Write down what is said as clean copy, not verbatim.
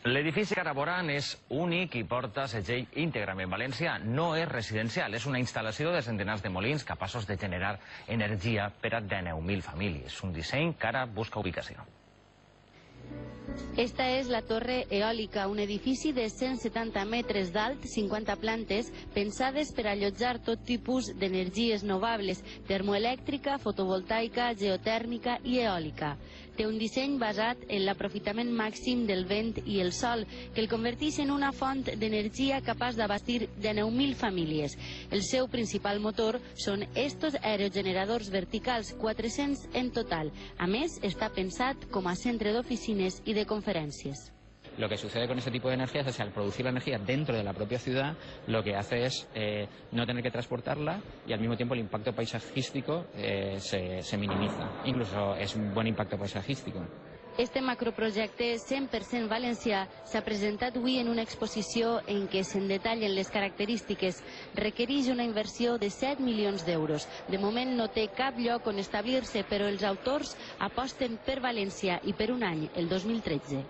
L'edifici Caraboran és únic i porta segell íntegrament valencià. No és residencial, és una instal·lació de centenars de molins capaços de generar energia per a 19.000 famílies. Un disseny que ara busca ubicació. Esta és la Torre Eòlica, un edifici de 170 metres d'alt, 50 plantes, pensades per allotjar tot tipus d'energies renovables, termoelèctrica, fotovoltaica, geotèrmica i eòlica. Té un disseny basat en l'aprofitament màxim del vent i el sol, que el converteix en una font d'energia capaç d'abastir 19.000 famílies. El seu principal motor són estos aerogeneradors verticals, 400 en total. A més, està pensat com a centre d'oficines i de conferències. Lo que sucede con este tipo de energías es que al producir la energía dentro de la propia ciudad, lo que hace es no tener que transportarla y al mismo tiempo el impacto paisajístico se minimiza. Incluso es un buen impacto paisajístico. Este macroprojecte 100% valencià s'ha presentat avui en una exposició en què se'n detallen les característiques. Requereix una inversió de 7 milions d'euros. De moment no té cap lloc on establir-se, però els autors aposten per València i per un any, el 2013.